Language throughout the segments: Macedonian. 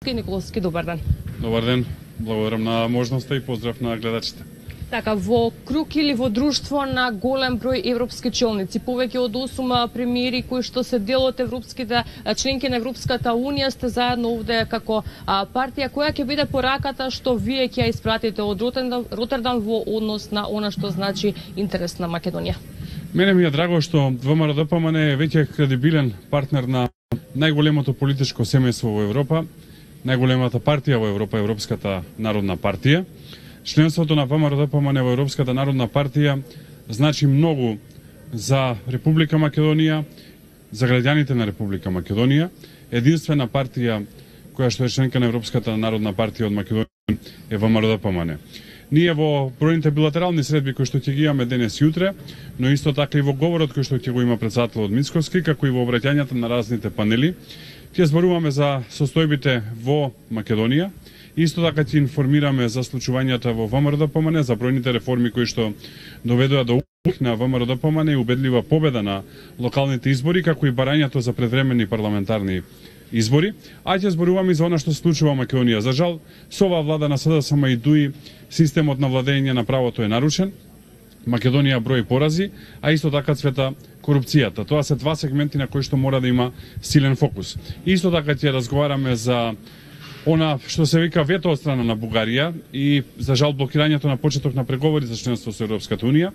Николовски. Николовски, добар ден. Добар ден, благодарам на можноста и поздрав на гледачите. Така, во круг или во друштво на голем број европски челници, повеќе од 8 премиери кои што се дел од европските членки на Европската Унија, сте заедно овде како партија. Која ќе биде пораката што вие ќе ја испратите од Ротердам во однос на она што значи интерес на Македонија? Мене ми е драго што ВМРО-ДПМН е веќе кредибилен партнер на најголемото политичко семејство во Европа, најголемата партија во Европа, Европската народна партија. Членството на ВМРО-ДПМН во Европската народна партија значи многу за Република Македонија, за граѓаните на Република Македонија. Единствена партија која што е членка на Европската народна партија од Македонија е ВМРО-ДПМН. Ние во бројните билатерални средби кои што ќе ги имаме денес и утре, но исто така и во говорот кој што ќе го има председателот Мицковски, како и во обраќањата на разните панели, ќе зборуваме за состојбите во Македонија. Исто така ќе информираме за случувањата во ВМРО-ДПМН, за бројните реформи кои што доведоа до успех на ВМРО-ДПМН и убедлива победа на локалните избори, како и барањето за предвремени парламентарни избори, а ќе зборуваме и за она што се случува во Македонија. За жал, со оваа влада на СДСМ и ДУИ системот на владење на правото е нарушен. Македонија брои порази, а исто така цвета корупцијата. Тоа се два сегменти на кои што мора да има силен фокус. Исто така ќе разговараме за она што се вика вето од страна на Бугарија и за жал блокирањето на почеток на преговори за членство со Европската Унија.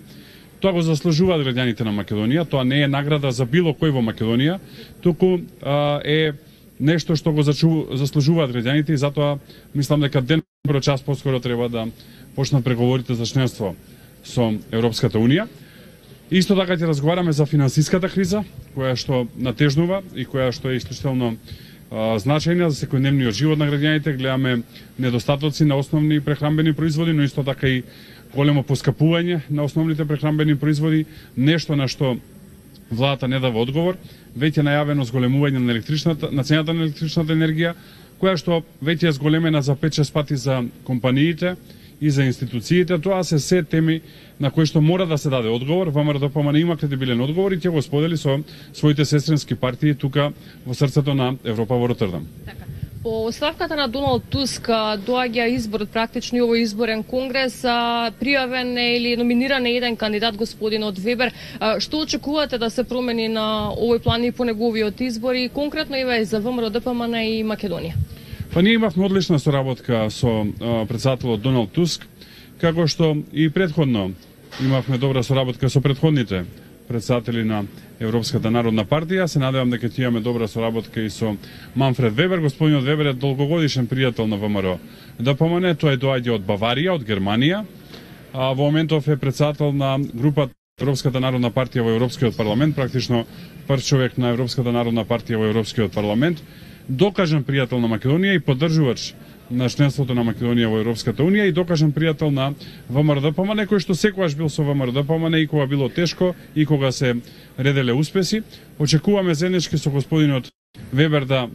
Тоа го заслужуваат граѓаните на Македонија, тоа не е награда за било кој во Македонија, туку е нешто што го заслужуваат граѓаните и затоа мислам дека ден час поскоро треба да почнат преговорите за членство со Европската Унија. Исто така ќе разговараме за финансиската криза, која што натежнува и која што е исклучително значајна за секојдневниот живот на граѓаните. Гледаме недостатоци на основни прехранбени производи, но исто така и големо поскапување на основните прехранбени производи, нешто на што владата не дава одговор. Веќе најавено зголемување на цената на електричната енергија, која што веќе е зголемена за 5-6 пати за компаниите и за институциите. Тоа се теми на кои што мора да се даде одговор. ВМРО-ДПМН има кредибилен одговор и ќе го сподели со своите сестрински партии тука во срцето на Европа во Ротердам. Така. По оставката на Доналд Туск доаѓа изборот, практично и овој изборен конгрес, пријавен е или номиниран е еден кандидат, господинот Вебер. Што очекувате да се промени на овој план и по неговиот избор и конкретно и за ВМРО-ДПМН и Македонија? Па ние имавме одлична соработка со председателот Доналд Туск, како што и претходно имавме добра соработка со претходните председатели на Европската народна партија. Се надевам дека ќе имаме добра соработка и со Манфред Вебер. Господинот Вебер е долгогодишен пријател на ВМРО-ДПМН, тој доаѓа од Баварија, од Германија. Во моментов е председател на групата Европската народна партија во Европскиот парламент, практично прв човек на Европската народна партија во Европскиот парламент. Докажан пријател на Македонија и поддржувач на членството на Македонија во Европската Унија и докажан пријател на ВМРО-ДПМН, кој што секогаш бил со ВМРО-ДПМН и кога било тешко и кога се ределе успеси. Очекуваме заеднички со господинот Вебер да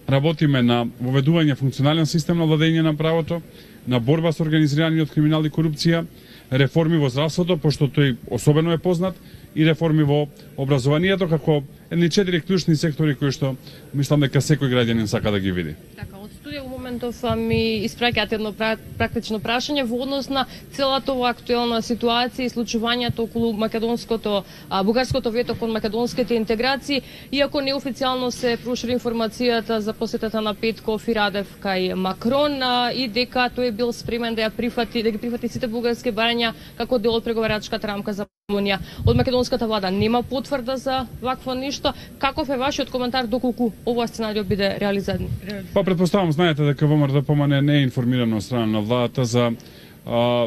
работиме на воведување функционален систем на владење на правото, на борба со организираниот криминал и корупција, реформи во здравството, пошто тој особено е познат, и реформи во образованието, како едни 4 клучни сектори кои што мислам дека секој граѓанин сака да ги види. Така, од студија во моментов ми испраќаат едно практично прашање во однос на целата ова актуелна ситуација и случувањето околу бугарското вето кон македонските интеграции, иако неофицијално се прошири информацијата за посетата на Петков и Радев кај Макрон и дека тој бил спремен да ги прифати сите бугарски барања како дел од преговарачката рамка за Македонија. Од македонската влада нема потврда за вакво ништо. Каков е вашиот коментар доколку ова сценарио биде реализиран? Па претпоставам, знаете дека ВМРО-ДПМН не е информирано од страна на владата за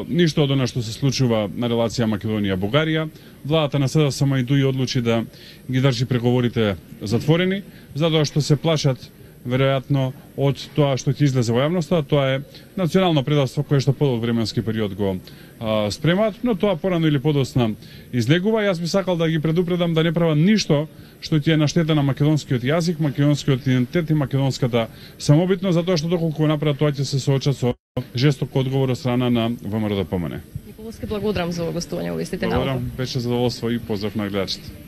ништо од она што се случува на релација Македонија-Бугарија. Владата на СДСМ и ДУИ одлучи да ги држи преговорите затворени, затоа што се плашат веројатно од тоа што ќе излезе во јавноста. Тоа е национално предавство кое што подолг временски период го спремаат, но тоа порано или подоцна излегува. Јас би сакал да ги предупредам да не прават ништо што ќе е на штета на македонскиот јазик, македонскиот идентитет и македонската самобитност, затоа што доколку го направат тоа ќе се соочат со жесток одговор од страна на ВМРО-ДПМН. Николовски, благодарам за гостување во Вестите наука. Благодарам, беше задоволство и поздрав на гледачите.